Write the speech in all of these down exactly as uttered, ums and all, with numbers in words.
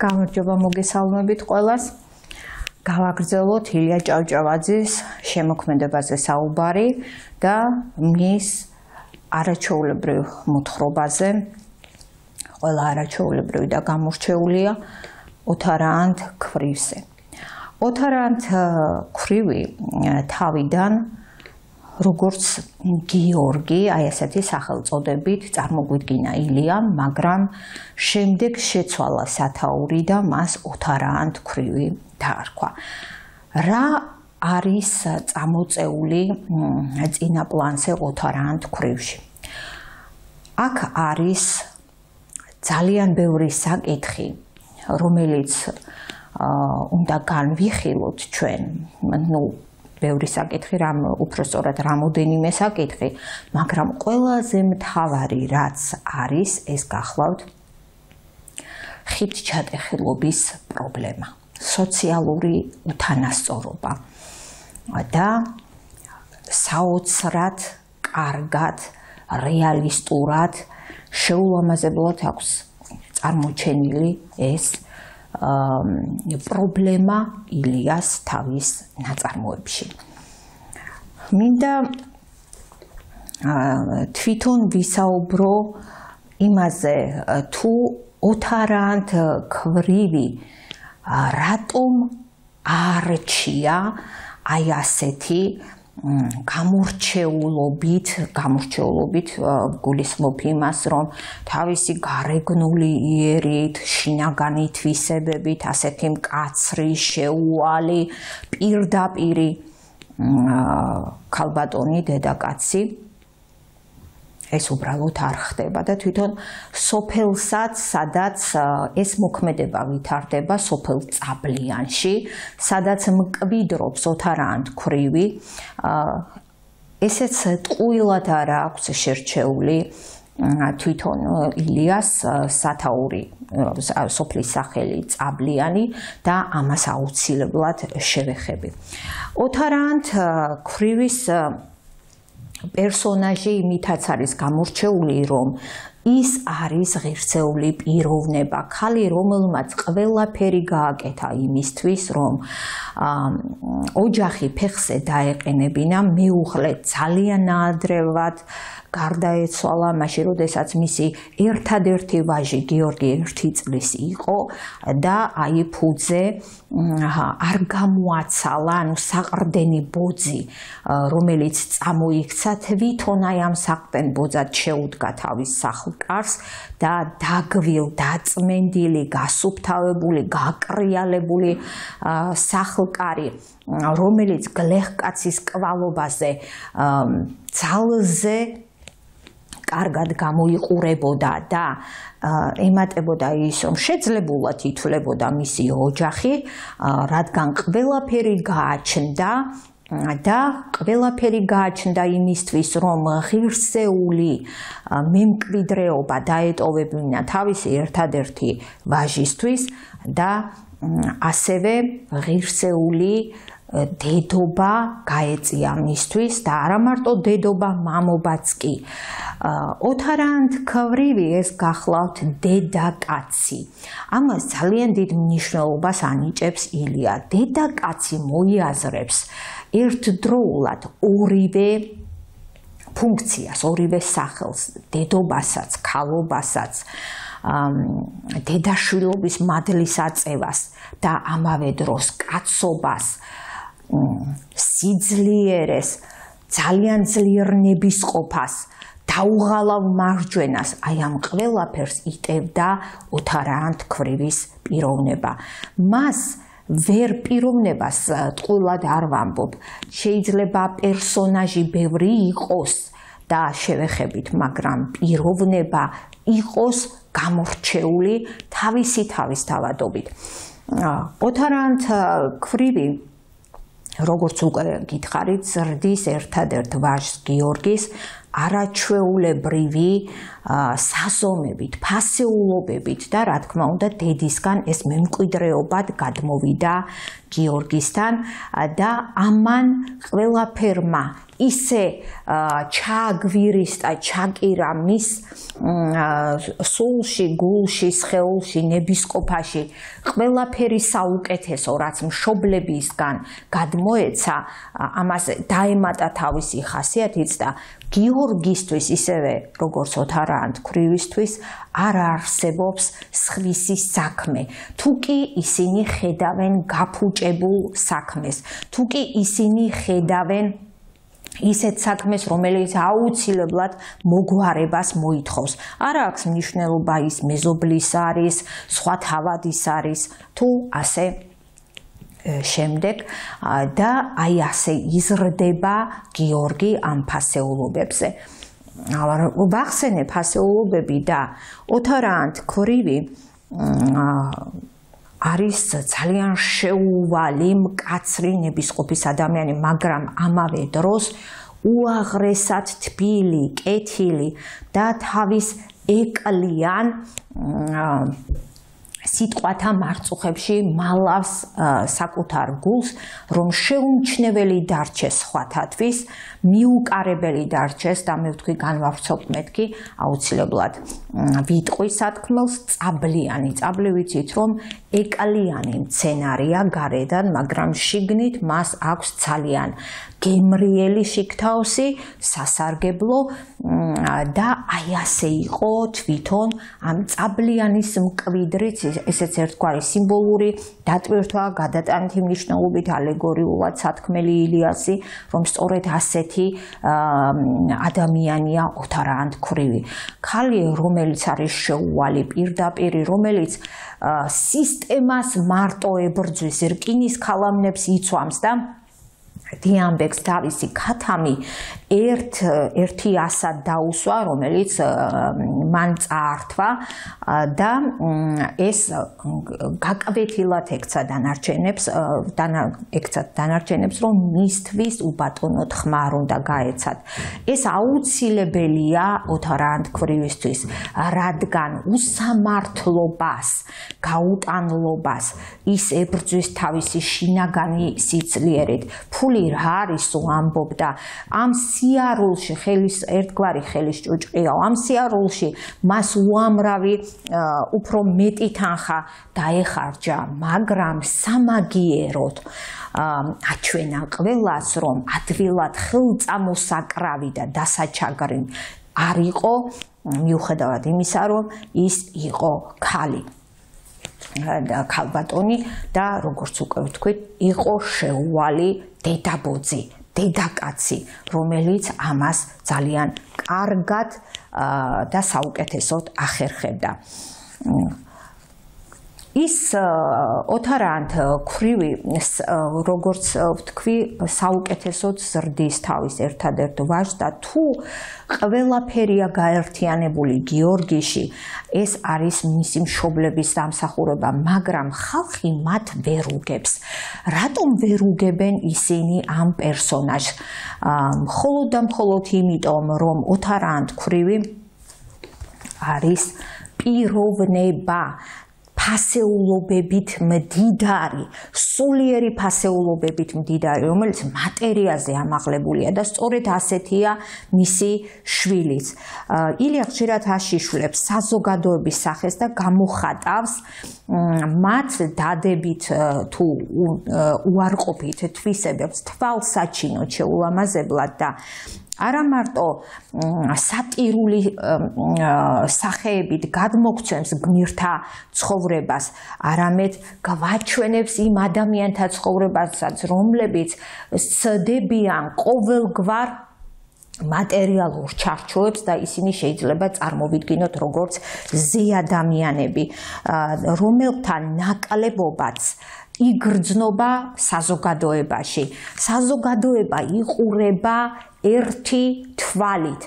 გამარჯობა მოგესალმებით ყველას. გავაგრძელოთ ილია ჭავჭავაძის შემოქმედებაზე საუბარი და მის არაჩვეულებრივ მოთხრობაზე. ყველა არაჩვეულებრივი და გამორჩეულია ოთარაანთ ქვრივზე. ოთარაანთ ქვრივი თავიდან როგორც გიორგი, აი ესეთი სახელწოდებით წარმოგვიდგინა ილიამ, მაგრამ შემდეგ შეცვალა სათაური და მას ოთარაანთ ქვრივი დაარქვა. რა არის წამოწეული წინა პლანზე ოთარაანთ ქვრივში? აქ არის ძალიან ბევრი საკითხი, რომელიც უნდა განვიხილოთ ჩვენ, ну ბევრი საკითხი, რამ უпростоრად რამოდენიმე საკითხი, მაგრამ ყველაზე მთავარი რაც არის, ეს გახლავთ ხიდჩატეხილობის პრობლემა, სოციალური უთანასწორობა და საოცრად, კარგად, რეალისტურად, შეულამაზებლად აქვს წარმოჩენილი ეს პრობლემა ილიას თავის ნაწარმოებში. მინდა თვითონ ვისაუბრო იმაზე, თუ ოთარაანთ ქვრივი რატომ არჩია აი ასეთი გამორჩეულობით, გამორჩეულობით გულისხმობ იმას, რომ თავისი გარეგნული იერით, შინაგანი თვისებებით, ასეთი მკაცრი, შეუვალი, პირდაპირი ქალბატონი დედაკაცი ეს უბრალოდ არ ხდება და თვითონ სოფელსაც, სადაც ეს მოქმედება ვითარდება, სოფელ წაბლიანში, სადაც მკვიდრობს ოთარაანთ ქვრივი, ესეც ტყუილად არ აქვს შერჩეული თვითონ ილიას სათაური, სოფლის სახელი წაბლიანი და ამას აუცილებლად შევეხები. ოთარაანთ ქვრივის პერსონაჟი იმითაც არის გამორჩეული, რომ ის არის ღირსეული პიროვნება, ქალი, რომელმაც ყველაფერი გააკეთა იმისთვის, რომ ოჯახი ფეხზე დაეყენებინა, მეუღლე ძალიან ნაადრევად გარდაეცვალა, მაშინ როდესაც მისი ერთადერთი ვაჟი გიორგი ერთი წლის იყო და აი ფუძე არ გამოაცალა, ანუ საყრდენი ბოძი, რომელიც წამოიქცა, თვითონ აი ამ საყრდენ ბოძად შეუდგა თავის სახლკარს და დაგვილ, დაწმენდილი, გასუფთავებული, გაკრიალებული სახლკარი, რომელიც გლეხკაცის კვალობაზე ძალზე კარგად გამოიყურებოდა და ემატებოდა ის, რომ შეძლებულად ითვლებოდა მისი ოჯახი, რადგან ყველაფერი გააჩნდა და ყველაფერი გააჩნდა იმისთვის, რომ ღირსეული მემკვიდრეობა დაეტოვებინა თავისი ერთადერთი ვაჟისთვის და ასევე ღირსეული დედობა გაეწია მისთვის და არა მარტო დედობა, მამობაც კი. ოთარაანთ ქვრივი ეს გახლავთ დედაკაცი. ამას ძალიან დიდ მნიშვნელობას ანიჭებს ილია. დედაკაცი მოიაზრებს ერთდროულად ორივე ფუნქციას, ორივე სახელს, დედობასაც, ქალობასაც, დედაშვილობის მადლის აწევას და ამავე დროს კაცობას, სიძლიერეს, ძალიან ძლიერ ნებისყოფას, დაუღალავ მარჯვენას, აი ამ ყველაფერს იტევდა ოთარაანთ ქვრივის პიროვნება. მას ვერ პიროვნებას ტყუილად არ ვამბობ, შეიძლება პერსონაჟი ბევრი იყოს და შევეხებით, მაგრამ პიროვნება იყოს გამორჩეული თავისი თავისთავადობით. ოთარაანთ ქვრივი, როგორც უკვე გითხარით, ზრდის ერთადერთ ვაჟს გიორგის არაჩვეულებრივი საზომებით, ფასეულობებით და რა თქმა უნდა დედისგან ეს მემკვიდრეობად გადმოვიდა გიორგისთან და ამან ყველაფერმა ისე ჩააგვირისდა, ჩაკირა მის სულში, გულში, სხეულში, ნებისყოფაში ყველაფერი საუკეთესო, რაც მშობლებისგან გადმოეცა, ამას დაემატა თავისი ხასიათიც და გიორგისთვის ისევე როგორც ოთარა ანთქვრივისთვის არ არსებობს სხვისი საქმე. თუ კი ისინი ხედავენ გაფუჭებულ საქმეს, თუ კი ისინი ხედავენ ისეთ საქმეს, რომელიც აუცილებლად მოგვარებას მოითხოვს. არ აქვს მნიშვნელობა ის მეზობლის არის, სხვა თავადის არის, თუ ასე შემდეგ და აი ასე იზრდება გიორგი ამ ფასეულობებზე. ვახსენე ფასეულობები და ოთარა ანთქვრივი არის ძალიან შეუვალი, მკაცრი ნებისყოფის ადამიანი, მაგრამ ამავე დროს უაღრესად თბილი, კეთილი და თავის ეკლიან სიტყვათა მარწუხებში მალავს საკუთარ გულს, რომ შეუმჩნეველი დარჩეს სხვათათვის, მიუკარებელი დარჩეს და მე ვთქვი განვავრცობთ მეთქი აუცილებლად ვიტყვი სათქმელს წაბლიანი. წაბლი ვიცით რომ ეკლიანი მცენარეა გარედან, მაგრამ შიგნით მას აქვს ძალიან გემრიელი შიგთავსი, სასარგებლო და აი ასე იყო თვითონ ამ წაბლიანის მკვიდრიც, ესეც ერთგვარი სიმბოლური დატვირთვა, გადატანითი მნიშვნელობით ალეგორიულად სათქმელი ილიასი, რომ სწორედ ასეთი ადამიანია ოთარა ანთქვრივი. ქალი, რომელიც არის შეუვალი პირდაპირი, რომელიც სისტემას მარტო ებრძვის, რკინის ქალამნებს იცვამს და დიამბექს თავისი ქათამი ერთ ერთი ასად დაუსვა, რომელიც მან წაართვა და ეს გაკვეთილად ექცა დანარჩენებს, ექცა დანარჩენებს, რომ მისთვის უბატონოდ ხმარ უნდა გაეცათ. ეს აუცილებელია ოთარა ანთქვრივისთვის, რადგან უსამართლობას, გაუტანლობას ის ებრძვის თავისი შინაგანი სიძლიერით. ფული რა არის ამბობდა, ამ სიარულში ხელის ერთგვარი ხელის ჭუჭყია, ამ სიარულში მას უამრავი უფრო მეტი თანხა დაეხარჯა, მაგრამ სამაგიეროდ აჩვენა ყველას, რომ ადვილად ხელწამოსაკრავი და დასაჩაგრი არ იყო, მიუხედავად იმისა, რომ ის იყო ქალი. ქალბატონი და როგორც უკვე ვთქვით, იყო შეუვალი დედაბოძი, დედაკაცი, რომელიც ამას ძალიან კარგად და საუკეთესოდ ახერხებდა. ის ოთარა ანთქვრივი, როგორც ვთქვი, საუკეთესოდ ზრდის თავის ერთადერთ ვაჟს და თუ ყველაფერია გაერთიანებული გიორგიში, ეს არის მისი მშობლების დამსახურება, მაგრამ ხალხი მათ ვერ უგებს. რატომ ვერ უგებენ ისინი ამ პერსონაჟს? მხოლოდ და მხოლოდ იმიტომ, რომ ოთარა ანთქვრივი არის პიროვნება, ფასეულობებით მდიდარი, სულიერი ფასეულობებით მდიდარი, რომელიც მატერიაზე ამაღლებულია და სწორედ ასეთია მისი შვილიც. ილია ხშირად აშიშვლებს საზოგადოების სახეს და გამოხატავს მათ დადებით თუ უარყოფით თვისებებს თვალსაჩინოდ შეულამაზებლად და არა მარტო სატირული სახეებით გადმოგცემს გმირთა ცხოვრებას, არამედ გვაჩვენებს იმ ადამიანთა ცხოვრებასაც, რომლებიც სცდებიან ყოველგვარ მატერიალურ ჩარჩოებს და ისინი შეიძლება წარმოვიდგინოთ როგორც ზეადამიანები, რომელთა ნაკლებობაც იგრძნობა საზოგადოებაში. საზოგადოება იყურება ერთი თვალით.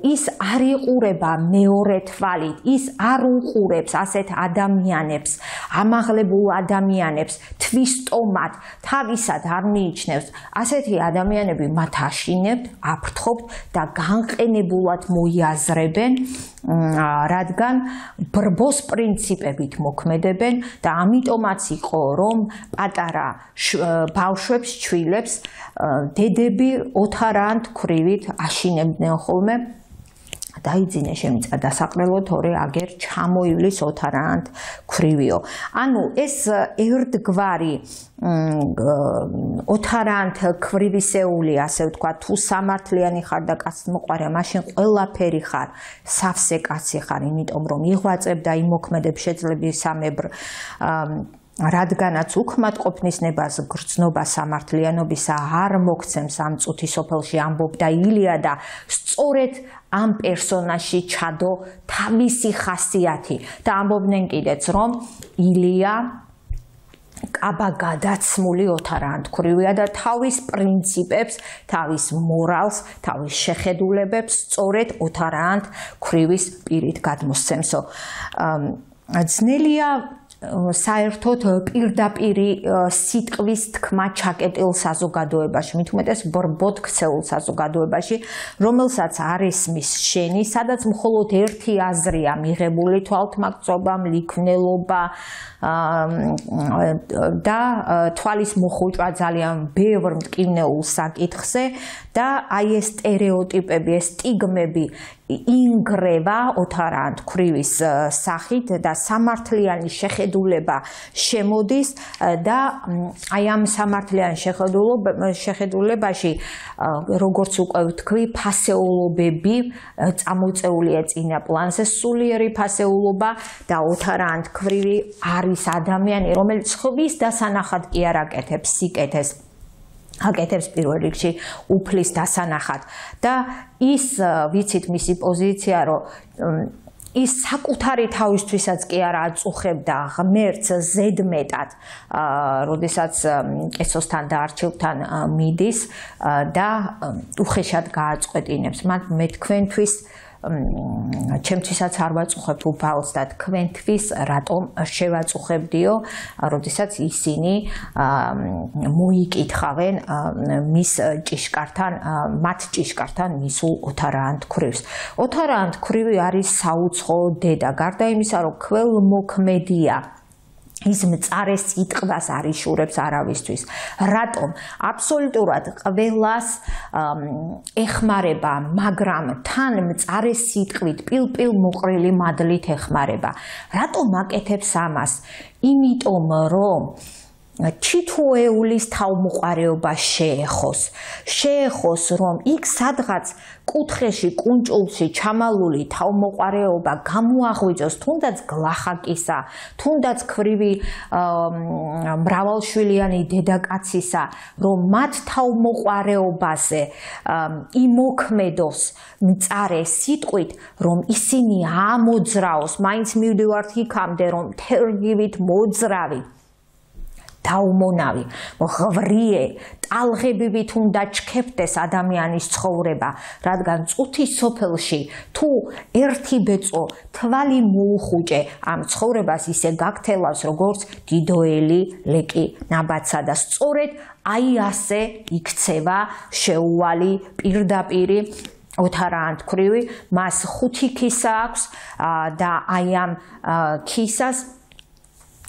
ის არ იყურება მეორე თვალით, ის არ უყურებს ასეთ ადამიანებს, ამაღლებულ ადამიანებს, თვისტომად, თავისად არ მიიჩნევს. ასეთი ადამიანები მათ აშინებთ, აფრთხობთ და განყენებულად მოიაზრებენ, რადგან ბრბოს პრინციპებით მოქმედებენ და ამიტომაც იყო, რომ პატარა ბავშვებს, ჩვილებს დედები ოთარაანთ ქვრივით აშინებდნენ ხოლმე. დაიძინე შემიწა დასაყრელო თორე აგერ ჩამოივლის ოთარაანთ ქვრივიო. ანუ ეს ერთგვარი ოთარაანთ ქვრივისეული, ასე ვთქვათ, თუ სამართლიანი ხარ და კაცმოყვარე, მაშინ ყველაფერი ხარ, სავსე კაცი ხარ, იმიტომ რომ იღვაწებ და იმოქმედებ შეძლებისამებრ რადგანაც უქმატყოფნის ნებას გრძნობა სამართლიანობისა არ მოგცემს ამ წუთის სოფელში ამბობდა ილია და სწორედ ამ პერსონაჟში ჩადო თავისი ხასიათი და ამბობდნენ კიდეც რომ ილია კაბა გადაცმული ოთარაანთ ქვრივია და თავის პრინციპებს, თავის მორალს, თავის შეხედულებებს სწორედ ოთარაანთ ქვრივის პირით გადმოსცემსო. ძნელია საერთოდ პირდაპირი სიტყვის თქმა ჩაკეტილ საზოგადოებაში, მით უმეტეს ბრბოდ ქცეულ საზოგადოებაში, რომელსაც არ ესმის შენი, სადაც მხოლოდ ერთი აზრია მიღებული თვალთმაგწობა, მლიქვნელობა და თვალის მოხუჭვა ძალიან ბევრ მტკივნეულ საკითხზე და აი ეს სტერეოტიპები, ეს სტიგმები ინგრევა ოთარაანთ ქვრივის სახით და სამართლიანი შეხედულება შემოდის და აი ამ სამართლიან შეხედულებაში როგორც უკვე ვთქვი, ფასეულობები წამოწეულია წინა პლანზე, სულიერი ფასეულობა და ოთარაანთ ქვრივი არის ადამიანი, რომელიც ხვის დასანახად კი არ აკეთებს სიკეთეს. აკეთებს პირველ რიგში უფლის დასანახად და ის ვიცით მისი პოზიცია რომ ის საკუთარი თავისთვისაც კი არ აწუხებდა ღმერთს ზედმეტად, როდესაც კეცოსთან და არჩევთან მიდის და უხეშად გააწყვეტინებს. მე თქვენთვის ჩემთვისაც არ ვაწუხებ უფალს და თქვენთვის რატომ შევაწუხებდიო, როდესაც ისინი მოიკითხავენ მის ჭიშკართან, მათ ჭიშკართან მისულ ოთარაანთ ქვრივს. ოთარაანთ ქვრივი არის საუცხო დედა, გარდა იმისა, რომ ქველმოქმედია, ის მწარე სიტყვას არ იშურებს არავისთვის. რატომ? აბსოლუტურად ყველას ეხმარება, მაგრამ თან მწარე სიტყვით, პილპილ მოყრილი მადლით ეხმარება. რატომ აკეთებს ამას? იმიტომ რომ ჩითოეულის თავმოყარეობა შეეხოს. შეეხოს, რომ იქ სადღაც კუთხეში, კუნჭულში ჩამალული თავმოყარეობა გამოაღვიძოს, თუნდაც გლახაკისა, თუნდაც ქვრივი მრავალშვილიანი დედაკაცისა, რომ მათ თავმოყარეობაზე იმოქმედოს მწარე სიტყვით, რომ ისინი ამოძრაოს, მაინც მივდივართ იქამდე, რომ თერგივით მოძრავი. დაუმონავი, ღვრიე, ტალღებივით უნდა ჩქეფდეს ადამიანის ცხოვრება, რადგან წუთის სოფელში თუ ერთი ბეწო თვალი მოუხუჭე ამ ცხოვრებას ისე გაქთელავს, როგორც დიდოელი ლეკი ნაბაცა და სწორედ აი ასე იქცევა შეუვალი პირდაპირი ოთარაანთ ქვრივი, მას ხუთი ქისა აქვს და აი ამ ქისას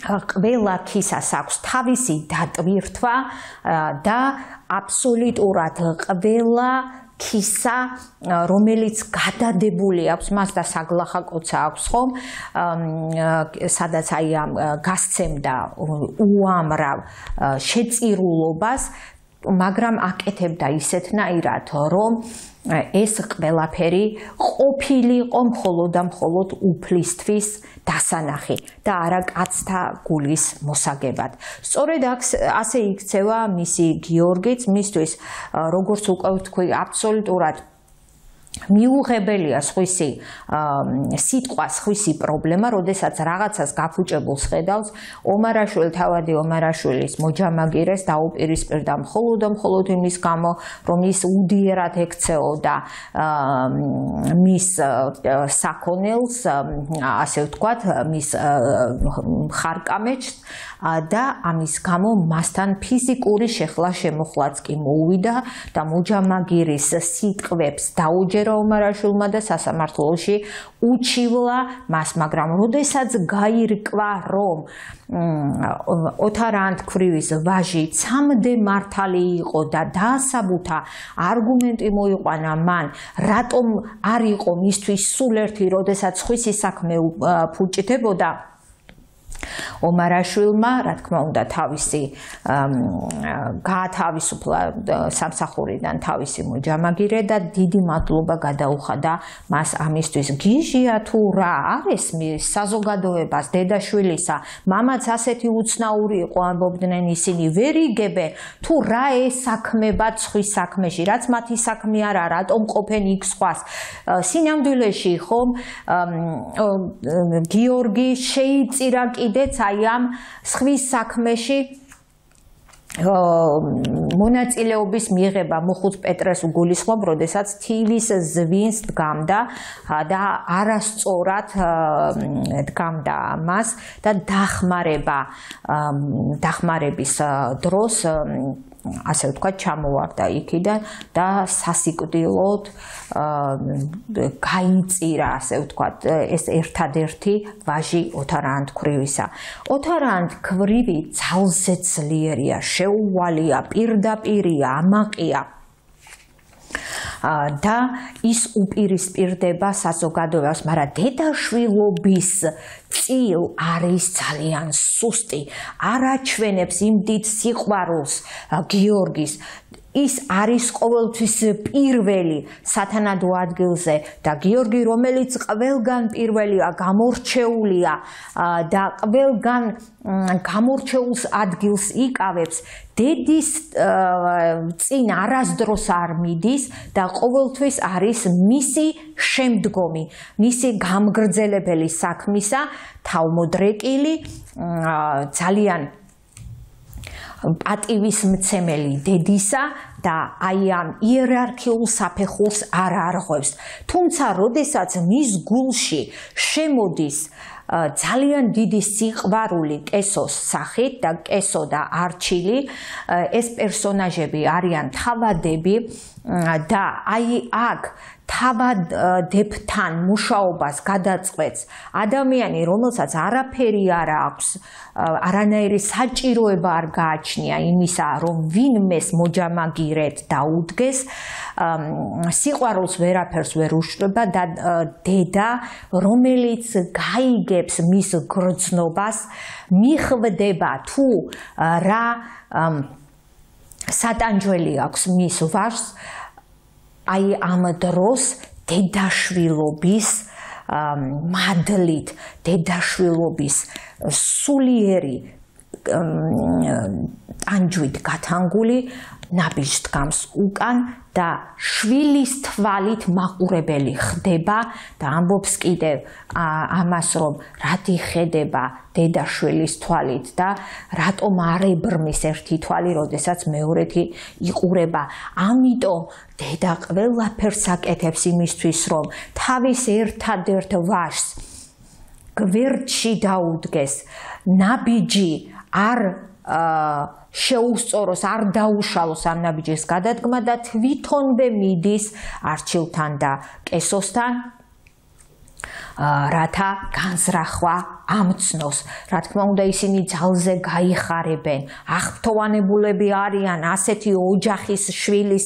ყველა ქისას აქვს თავისი დატვირთვა და აბსოლუტურად ყველა ქისა, რომელიც გადადებული აქვს, მას და საგლახა კოცა აქვს ხომ, სადაც აი ამ გასცემდა უამრავ შეწირულობას, მაგრამ აკეთებდა ისეთნაირად, რომ ეს ყველაფერი ყოფილიყო მხოლოდ და მხოლოდ უფლისთვის დასანახი და არა კაცთა გულის მოსაგებად. სწორედ ასე იქცევა მისი გიორგიც, მისთვის, როგორც უკვე ვთქვი, აბსოლუტურად მიუღებელია სხვისი სიტყვა, სხვისი პრობლემა, როდესაც რაღაცას გაფუჭებულს ხედავს, ომარაშვილი თავადი ომარაშვილის მოჯამაგირეს დაუპირისპირდა მხოლოდ და მხოლოდ იმის გამო, რომ ის უდიერად ექცეოდა მის საქონელს, ასე ვთქვათ, მის ხარკამეჩს და ამის გამო მასთან ფიზიკური შეხლა შემოხლაც კი მოუვიდა და მოჯამაგირის სიტყვებს დაუჯერა ომარაშვილმა და სასამართლოში უჩივლა მას, მაგრამ როდესაც გაირკვა, რომ ოთარ ანთქვრივის ვაჟი ცამდე მართალი იყო და დაასაბუთა არგუმენტი მოიყვანა მან, რატომ არ იყო მისთვის სულ ერთი, როდესაც სხვისი საქმე ფუჭდებოდა, ომარაშვილმა, რა თქმა უნდა, თავისი გაათავისუფლა სამსახურიდან თავისი მოჯამაგირე და დიდი მადლობა გადაუხადა მას ამისთვის. გიჟია თუ რა არის საზოგადოებას დედაშვილისა, მამაც ასეთი უცნაური იყო, ამბობდნენ ისინი, ვერ იგებენ თუ რა ესაქმება სხვის საქმეში, რაც მათი საქმე არა, რატომ ყოფენ იქ სხვას. სინამდვილეში ხომ გიორგი შეიწირა კიდეც აი ამ სხვის საქმეში მონაწილეობის მიღება მოხუც პეტრეს უგულისხმობ, როდესაც თილის ზვინს დგამდა და არასწორად დგამდა მას და დახმარება დახმარების დროს ასე ვთქვათ, ჩამოვარდა იქიდან და სასიკვდილოდ გაიწირა, ასე ვთქვათ, ეს ერთადერთი ვაჟი ოთარ ანთქვრივისა. ოთარ ანთქვრივი ძალზე ძლიერია, შეუვალია, პირდაპირია, ამაყია. და ის უპირისპირდება საზოგადოებას, მაგრამ დედაშვილობის წილ არის ძალიან სუსტი, არ აჩვენებს იმ დიდ სიყვარულს გიორგის. ის არის ყოველთვის პირველი სათანადო ადგილზე და გიორგი, რომელიც ყველგან პირველია, გამორჩეულია და ყველგან გამორჩეულს ადგილს იკავებს, დედის წინ არასდროს არ მიდის და ყოველთვის არის მისი შემდგომი, მისი გამგრძელებელი საქმისა, თავმოდრეკილი, ძალიან პატივისმცემელი დედისა და აი ამ იერარქიულ საფეხურს არ არღვევს. თუმცა, როდესაც მის გულში შემოდის ძალიან დიდი სიყვარული კესოს სახით და კესო და არჩილი, ეს პერსონაჟები არიან თავადები და აი აქ თავადებთან მუშაობას გადაწყვეტს ადამიანი, რომელსაც არაფერი არ აქვს, არანაირი საჭიროება არ გააჩნია იმისა, რომ ვინმეს მოჯამაგირედ დაუდგეს, სიყვარულს ვერაფერს ვერ უშლება და დედა, რომელიც გაიგებს მის გრძნობას, მიხვდება თუ რა სატანჯველი აქვს მის ვაჟს, აი ამ დროს დედაშვილობის მადლით, დედაშვილობის სულიერი ტანჯვით გათანგული ნაბიჯს დგამს უკან და შვილის თვალით მაყურებელი ხდება და ამბობს კიდევ ამას, რომ რატი ხედება დედაშვილის თვალით და რატომ არ ებრმის ერთი თვალი, როდესაც მეორეთი იყურება. ამიტომ დედა ყველაფერს აკეთებს იმისთვის, რომ თავის ერთადერთ ვაჟს გვერდში დაუდგეს, ნაბიჯი არ შეუსწოროს, არ დაუშალოს ამ ნაბიჯის გადადგმა და თვითონვე მიდის არჩილთან და კესოსთან, რათა განზრახვა ამცნოს. რა თქმა უნდა, ისინი ძალზე გაიხარებენ, აღფრთოვანებულები არიან ასეთი ოჯახის შვილის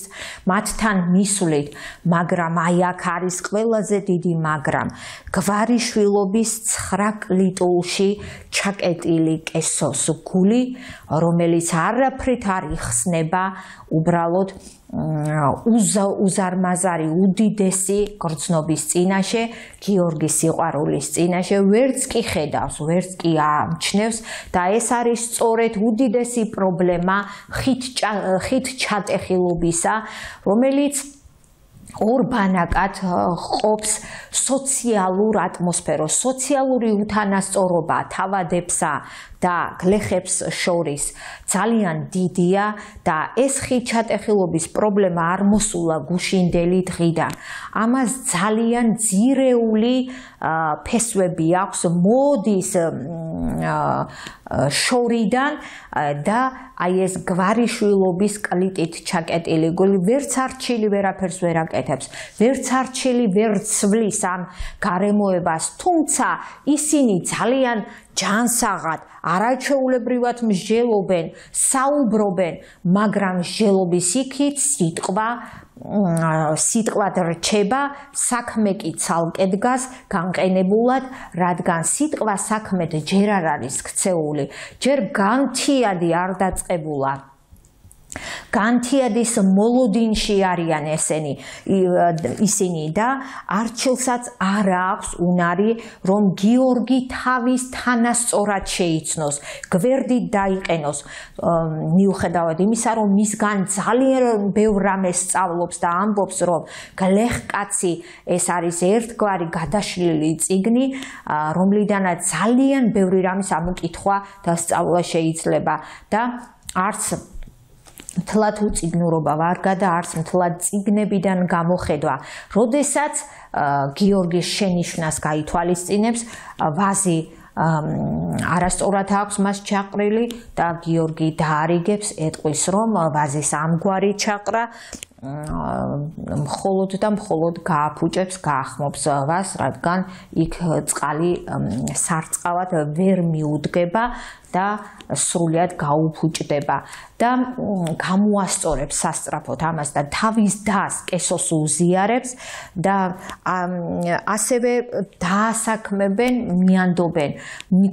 მათთან მისვლით, მაგრამ აი აქ არის ყველაზე დიდი მაგრამ. გვარიშვილობის ცხრა კლიტულში ჩაკეტილი კესოს გული, რომელიც არაფრით არ იხსნება, უბრალოდ უზარმაზარი უდიდესი გრძნობის წინაშე, გიორგის სიყვარულის წინაშე, ვერც კი ხედავს, ვერც კი ამჩნევს და ეს არის სწორედ უდიდესი პრობლემა ხით ჩატეხილობისა, რომელიც ორბანაკად ყოფს სოციალურ ატმოსფეროს, სოციალური უთანასწორობა თავადებსა და გლეხებს შორის ძალიან დიდია და ეს ხიდჩატეხილობის პრობლემა არ მოსულა გუშინდელი დღიდან. ამას ძალიან ძირეული ფესვები აქვს მოდის შორიდან და აი ეს გვარიშვილობის კლიტით ჩაკეტილი გული ვერც არჩილი ვერაფერს ვერ აკეთებს, ვერც არჩილი ვერ ცვლის ამ გარემოებას, თუმცა ისინი ძალიან ჯანსაღად, არაჩვეულებრივად მსჯელობენ, საუბრობენ, მაგრამ მსჯელობის იქით სიტყვა სიტყვად რჩება, საქმე კი ცალკე დგას განყენებულად, რადგან სიტყვა საქმედ ჯერ არ არის ქცეული, ჯერ განთიადი არ დაწყებულა. განთიადის მოლოდინში არიან ესენი ისინი და არჩილსაც არ აქვს უნარი რომ გიორგი თავის თანასწორად შეიცნოს, გვერდით დაიყენოს, მიუხედავად იმისა რომ მისგან ძალიან ბევრ რამეს სწავლობს და ამბობს რომ გლეხკაცი ეს არის ერთგვარი გადაშლილი წიგნი, რომლიდანაც ძალიან ბევრი რამის ამოკითხვა და სწავლა შეიძლება და არც მთლად უწიგნურობა ვარგა და არც მთლად წიგნებიდან გამოხედვა. როდესაც გიორგის შენიშვნას გაითვალისწინებს, ვაზი არასწორად აქვს მას ჩაყრილი და გიორგი დაარიგებს, ეტყვის რომ ვაზის ამგვარი ჩაყრა მხოლოდ და მხოლოდ გააფუჭებს, გაახმობს ვაზს, რადგან იქ წყალი სარწყავად ვერ მიუდგება და სრულიად გაუფუჭდება და გამოასწორებს სასწრაფოდ ამას და თავის დას კესოს უზიარებს და ასევე დაასაქმებენ, მიანდობენ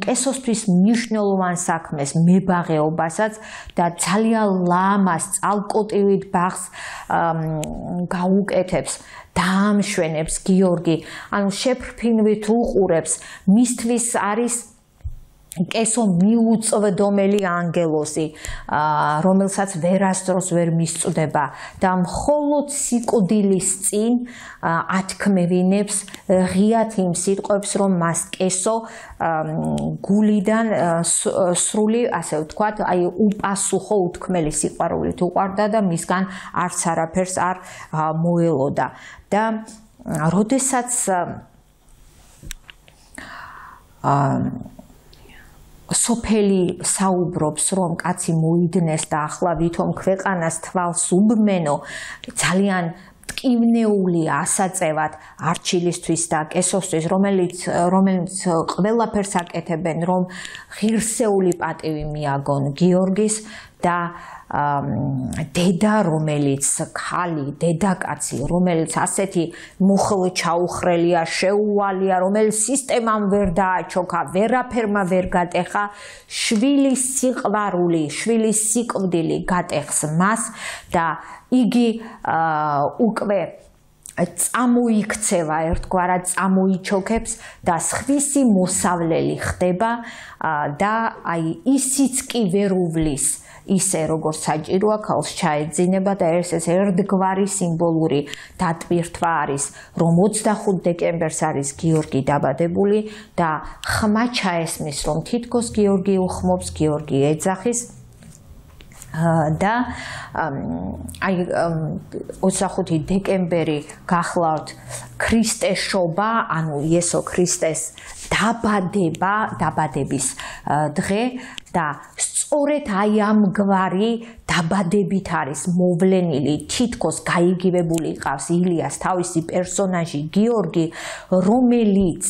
კესოსთვის მნიშვნელოვან საქმეს, მებაღეობასაც და ძალიან ლამას, წალკოტივით ბაღს გაუკეთებს. დაამშვენებს გიორგი, ანუ შეფრფინვით უყურებს, მისთვის არის კესო მიუწვდომელი ანგელოზი, რომელსაც ვერასდროს ვერ მისწვდება და მხოლოდ სიკვდილის წინ ათქმევინებს ღიად იმ სიტყვებს, რომ მას კესო გულიდან სრული, ასე ვთქვათ, აი უპასუხო უთქმელი სიყვარულით უყვარდა და მისგან არც არაფერს არ მოელოდა და როდესაც სოფელი საუბრობს, რომ კაცი მოიდნეს და ახლა ვითომ ქვეყანას თვალს უბმენო, ძალიან ტკივნეულია ასაწევად არჩილისთვის და კესოსთვის, რომელიც რომელიც ყველაფერს აკეთებენ, რომ ღირსეული პატივი მიაგონ გიორგის და დედა, რომელიც ქალი, დედაკაცი, რომელიც ასეთი მუხლ ჩაუხრელია, შეუვალია, რომელიც სისტემამ ვერ დააჩოქა, ვერაფერმა ვერ გატეხა, შვილის სიყვარული, შვილის სიკვდილი გატეხს მას და იგი უკვე წამოიქცევა, ერთგვარად წამოიჩოქებს და სხვისი მოსავლელი ხდება და აი ისიც კი ვერ უვლის ისე როგორც საჭიროა ქალს ჩაეძინება და ეს ეს ერთგვარი სიმბოლური დატვირთვა არის, რომ ოცდახუთ დეკემბერს არის გიორგი დაბადებული და ხმა ჩაესმის, რომ თითქოს გიორგი უხმობს, გიორგი ეძახის და აი ოცდახუთი დეკემბერი გახლავთ ქრისტეშობა, ანუ იესო ქრისტეს დაბადება, დაბადების დღე და სწორედ აი ამგვარი დაბადებით არის მოვლენილი, თითქოს გაიგივებული ყავს ილიას თავისი პერსონაჟი გიორგი, რომელიც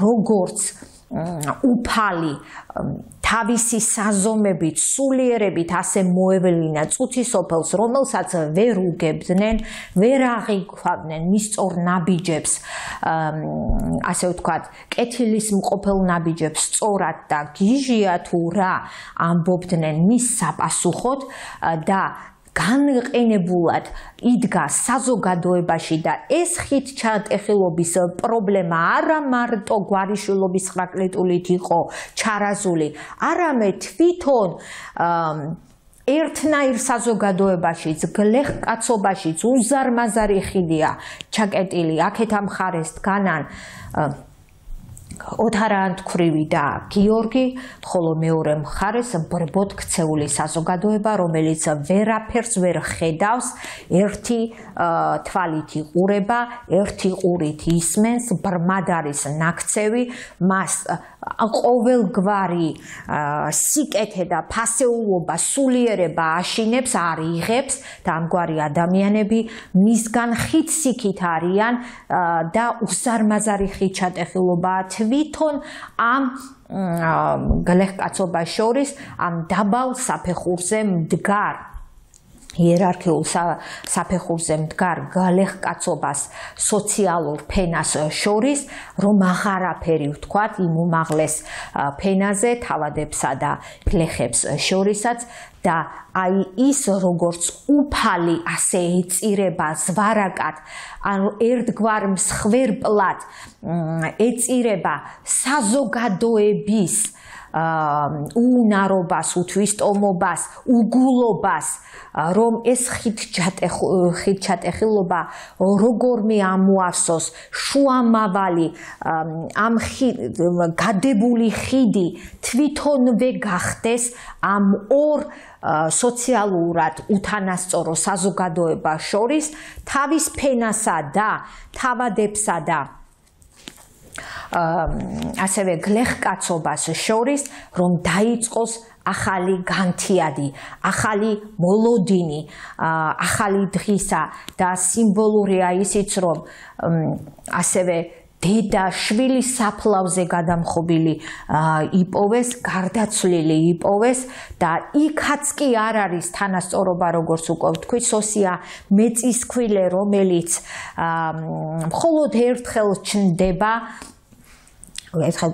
როგორც უფალი თავისი საზომებით, სულიერებით ასე მოევლინა წუთისოფელს, რომელსაც ვერ უგებდნენ, ვერ აღიქვამდნენ მის სწორ ნაბიჯებს, ასე ვთქვათ, კეთილის მყოფელ ნაბიჯებს სწორად და გიჟია თუ რა ამბობდნენ მის საპასუხოდ და განყენებულად იდგა საზოგადოებაში და ეს ხიდჩატეხილობის პრობლემა არა მარტო გვარიშვილობის ხრაკლიტულით იყო ჩარაზული, არამედ თვითონ ერთნაირ საზოგადოებაშიც, გლეხკაცობაშიც უზარმაზარი ხიდია ჩაკეტილი, აქეთ ამ მხარეს დგანან ოთარაანთქვრივი და გიორგი, ხოლო მეორე მხარეს ბრბოდ ქცეული საზოგადოება, რომელიც ვერაფერს ვერ ხედავს, ერთი თვალით იყურება, ერთი ყურით ისმენს, ბრმად არის ნაქცევი, მას ყოველგვარი სიკეთე და ფასეულობა, სულიერება აშინებს, არ იღებს და ამგვარი ადამიანები მისგან ხით-სიქით არიან და უზარმაზარი ხით-ჩატეხილობაა თვითონ ამ გლეხკაცობას შორის, ამ დაბალ საფეხურზე მდგარ იერარქიულ საფეხურზე მდგარ გლეხკაცობას სოციალურ ფენას შორის, რომ აღარაფერი ვთქვათ იმ უმაღლეს ფენაზე თავადებსა და გლეხებს შორისაც და აი ის როგორც უფალი ასე ეწირება ზვარაკად, ანუ ერთგვარ მსხვერპლად ეწირება საზოგადოების უუნარობას, უთვისტომობას, უგულობას, რომ ეს ხით-ჩატეხილობა როგორმე ამოავსოს შუამავალი ამ გადებული ხიდი თვითონვე გახდეს ამ ორ სოციალურად უთანასწორო საზოგადოებას შორის თავის ფენასა და თავადებსა და ასევე გლეხკაცობას შორის, რომ დაიწყოს ახალი განთიადი, ახალი მოლოდინი, ახალი დღისა და სიმბოლურია ისიც, რომ ასევე დედა შვილის საფლავზე გადამხობილი იპოვეს, გარდაცვლილი იპოვეს და იქაც კი არ არის თანასწორობა, როგორც უკვე ვთქვი, სოსია მეწისქვილე, რომელიც მხოლოდ ერთხელ ჩნდება, ერთხელ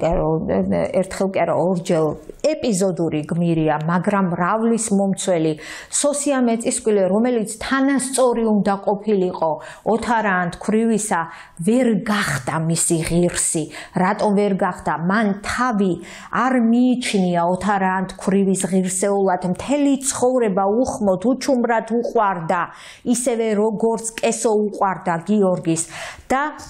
კი არა, ორჯერ ეპიზოდური გმირია, მაგრამ რავლის მომცველი სოსია მეწისქვილე, რომელიც თანასწორი უნდა ყოფილიყო ოთარაანთქვრივისა, ვერ გახდა მისი ღირსი. რატომ ვერ გახდა? მან თავი არ მიიჩნია ოთარაანთქვრივის ღირსეულად, მთელი ცხოვრება უხმოდ, უჩუმრად უყვარდა, ისევე როგორც კესო უყვარდა გიორგის და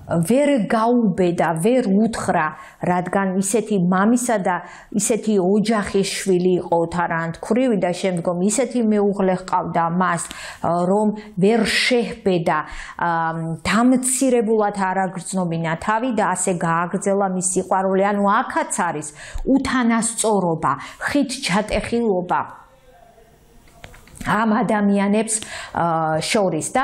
ვერ გაუბედა, ვერ უთხრა, რადგან ისეთი მამისა და ისეთი ოჯახის შვილი იყო ოთარაანთქვრივი და შემდგომ ისეთი მეუღლე ჰყავდა მას, რომ ვერ შეჰბედა, დამცირებულად არ აგრძნობინა თავი და ასე გააგრძელა მის სიყვარული. ანუ აქაც არის უთანასწორობა, ხით-ჩატეხილობა ამ ადამიანებს შორის და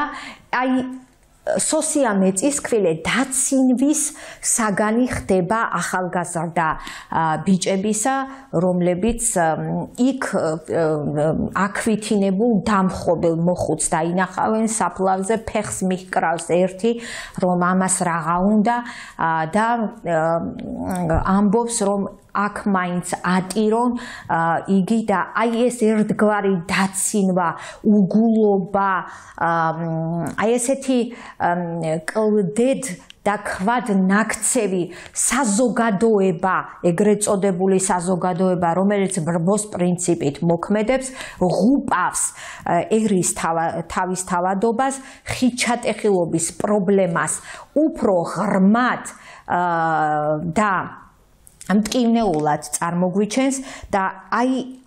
აი სოსია მეწისქვილე დაცინვის საგანი ხდება ახალგაზრდა ბიჭებისა, რომლებიც იქ აქვითინებულ დამხობელ მოხუცს დაინახავენ საფლავზე, ფეხს მიჰკრავს ერთი, რომ ამას რაღა უნდა და ამბობს, რომ აქ მაინც ატირონ იგი და აი ეს ერთგვარი დაცინვა, უგულობა, აი ესეთი კლდედ და ქვად ნაქცევი საზოგადოება, ეგრეთ წოდებული საზოგადოება, რომელიც ბრბოს პრინციპით მოქმედებს, ღუპავს ერის თავის თავადობას, ხით-ჩატეხილობის პრობლემას უფრო ღრმად და მტკივნეულად წარმოგვიჩენს და აი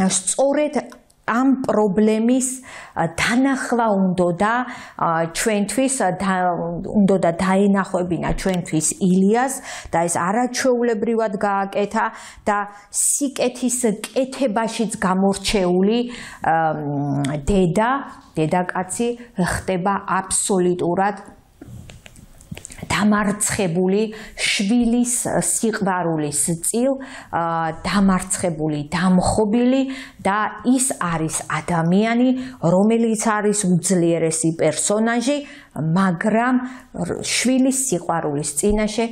სწორედ ამ პრობლემის დანახვა უნდა ჩვენთვის უნდა დაენახვებინა ჩვენთვის ილიას და ეს არაჩვეულებრივად გააკეთა და სიკეთის კეთებაშიც გამორჩეული დედა, დედაკაცი ხდება აბსოლუტურად დამარცხებული შვილის სიყვარულის წილ, დამარცხებული, დამხობილი და ის არის ადამიანი, რომელიც არის უძლიერესი პერსონაჟი, მაგრამ შვილის სიყვარულის წინაშე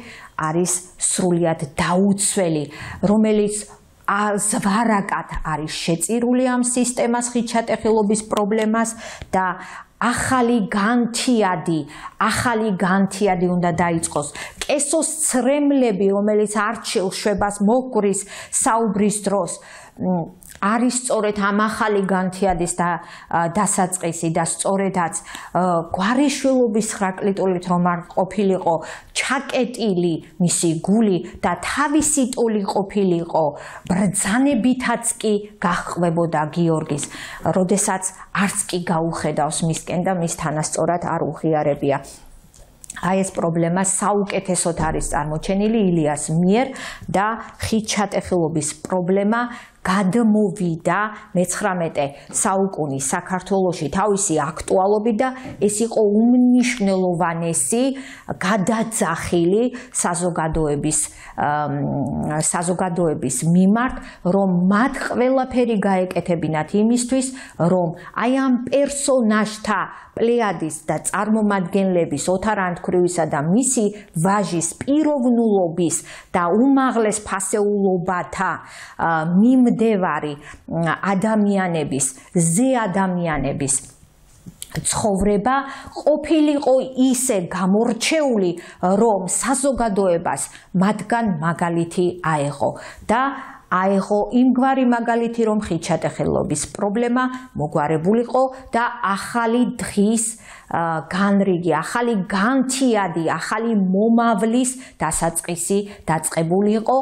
არის სრულიად დაუცველი, რომელიც ზვარაკად არის შეწირული ამ სისტემას, ხით-ჩატეხილობის პრობლემას და ახალი განთიადი, ახალი განთიადი უნდა დაიწყოს. კესოს ცრემლები, რომელიც არჩილ შვებას მოგვრის საუბრის დროს, არის სწორედ ამ ახალი განთიადის და დასაწყისი და სწორედაც გვარიშვილობის ხრაკლიტულით რომ არ ყოფილიყო ჩაკეტილი მისი გული და თავისი ტოლი ყოფილიყო ბრძანებითაც კი გაჰყვებოდა გიორგის, როდესაც არც კი გაუხედავს მისკენ და მის თანასწორად არ უღიარებია. აი ეს პრობლემა საუკეთესოდ არის წარმოჩენილი ილიას მიერ და ხით ჩატეხილობის პრობლემა გადმოვიდა მეცხრამეტე საუკუნის საქართველოში თავისი აქტუალობით და ეს იყო უმნიშვნელოვანესი გადაძახილი საზოგადოების საზოგადოების მიმართ, რომ მათ ყველაფერი გაეკეთებინათ იმისთვის, რომ აი ამ პერსონაჟთა პლეადის და წარმომადგენლების ოთარ ანდქვრივისა და მისი ვაჟის პიროვნულობის და უმაღლეს ფასეულობათა მიმდევარი ადამიანების, ზე ადამიანების ცხოვრება ყოფილიყო ისე გამორჩეული, რომ საზოგადოებას მათგან მაგალითი აეღო და აეღო იმგვარი მაგალითი, რომ ხით ჩატეხილობის პრობლემა მოგვარებულიყო და ახალი დღის განრიგი, ახალი განთიადი, ახალი მომავლის დასაწყისი დაწყებულიყო,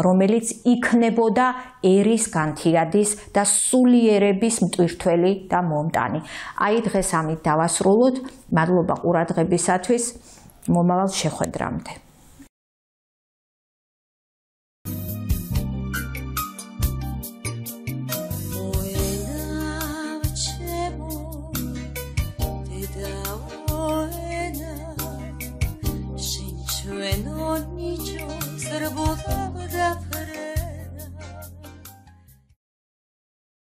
რომელიც იქნებოდა ერის განთიადის და სულიერების მტვირთველი და მომტანი. აი დღეს ამით დავასრულოთ. მადლობა ყურადღებისათვის. მომავალ შეხვედრამდე. No nicio, serbo da